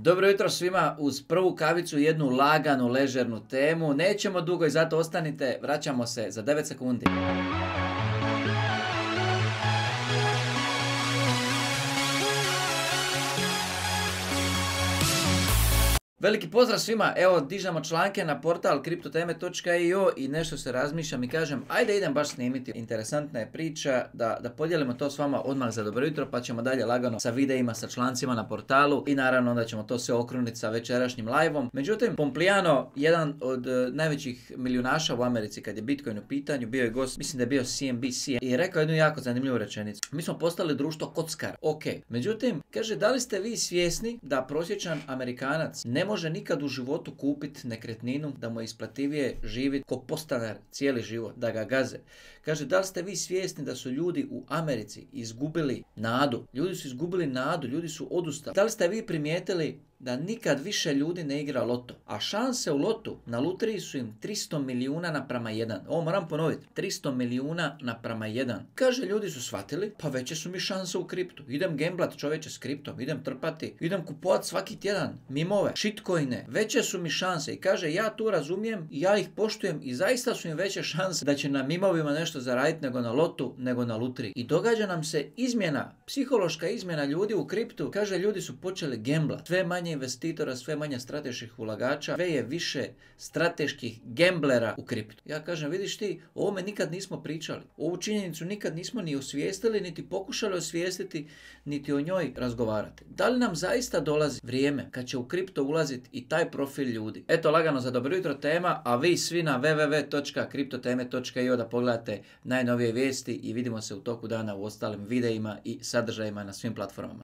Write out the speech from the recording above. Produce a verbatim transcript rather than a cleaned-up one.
Dobro jutro svima, uz prvu kavicu jednu laganu, ležernu temu. Nećemo dugo i zato ostanite, vraćamo se za devet sekundi. Veliki pozdrav svima, evo dižemo članke na portal kriptoteme točka i o i nešto se razmišljam i kažem ajde idem baš snimiti. Interesantna je priča da, da podijelimo to s vama odmah za dobro jutro, pa ćemo dalje lagano sa videima, sa člancima na portalu i naravno onda ćemo to sve okruniti sa večerašnjim live-om. Međutim, Pompliano, jedan od uh, najvećih milijunaša u Americi kad je Bitcoin u pitanju, bio je gost, mislim da je bio C N B C i rekao jednu jako zanimljivu rečenicu. Mi smo postali društvo kockara, ok. Međutim, kaže da li ste vi svjesni da prosječan Amerikanac ne može nikad u životu kupiti nekretninu, da mu je isplativije živjeti ko podstanar cijeli život, da ga gaze. Kaže, da li ste vi svjesni da su ljudi u Americi izgubili nadu? Ljudi su izgubili nadu, ljudi su odustali. Da li ste vi primijetili da nikad više ljudi ne igra loto? A šanse u lotu na lutriji su im tristo milijuna naprama jedan. Ovo moram ponoviti, tristo milijuna naprama jedan. Kaže, ljudi su shvatili, pa veće su mi šanse u kriptu. Idem gamblat čovječe s kriptom, idem trpati, idem kupovat svaki tjedan mimove, shitcoine, veće su mi šanse. I kaže, ja tu razumijem, ja ih poštujem i zaista su im veće šanse da će na mimovima nešto zaraditi nego na lotu, nego na lutriji. I događa nam se izmjena, psihološka izmjena ljudi u kriptu. Kaže, ljudi su počeli gamblat. Sve manje investitora, sve manje strateških ulagača, sve je više strateških gamblera u kriptu. Ja kažem, vidiš ti, o ovome nikad nismo pričali. Ovu činjenicu nikad nismo ni osvijestili, niti pokušali osvijestiti, niti o njoj razgovarati. Da li nam zaista dolazi vrijeme kad će u kripto ulaziti i taj profil ljudi? Eto, lagano za dobro jutro tema, a vi svi na w w w točka kriptoteme točka i o da pogledate najnovije vijesti i vidimo se u toku dana u ostalim videima i sadržajima na svim platformama.